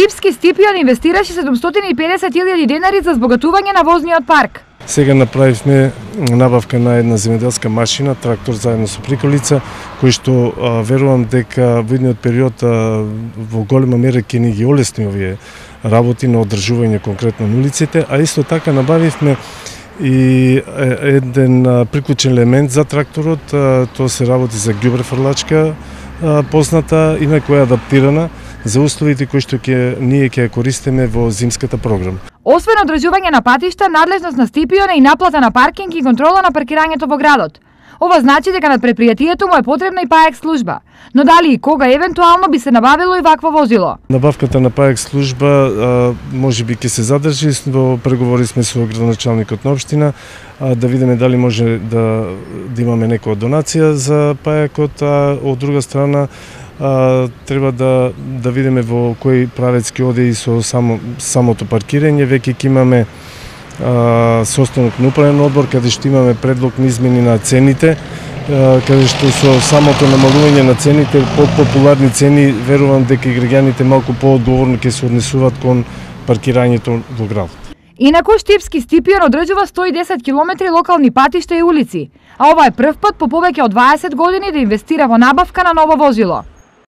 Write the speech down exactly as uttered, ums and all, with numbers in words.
Штипски Стипион инвестираше седумстотини и педесет илјади денари за збогатување на возниот парк. Сега направивме набавка на една земјоделска машина, трактор заедно со приколица, кој што а, верувам дека во идниот период а, во голема мера ќе ни ги олесни овие работи на одржување конкретно на улиците, а исто така набавивме и еден приклучен елемент за тракторот, тоа се работи за ѓубре фрлачка позната, инаку е адаптирана за условите кои што ќе ние ќе користиме во зимската програма. Освен одржување на патишта, надлежност на Стипион е и наплата на паркинг и контрола на паркирањето во градот. Ова значи дека над предпријатието му е потребна и ПАЕК служба. Но дали и кога евентуално би се набавило и вакво возило? Набавката на ПАЕК служба може би ќе се задржи, во преговори сме со градоначалникот на општина, а, да видиме дали може да, да имаме некоја донација за ПАЕКот, а од друга страна а, треба да, да видиме во кој правец ќе оде и со само, самото паркирање. Веќе ќе имаме состанок на управен одбор, каде што имаме предлог на измени на цените, каде што со самото намалување на цените, популарни цени, верувам дека и граѓаните малку поодговорно ќе се однесуваат кон паркирањето во градот. Инаку Штипски Стипион одржува сто и десет километри локални патишта и улици, а ова е прв пат по повеќе од дваесет години да инвестира во набавка на ново возило.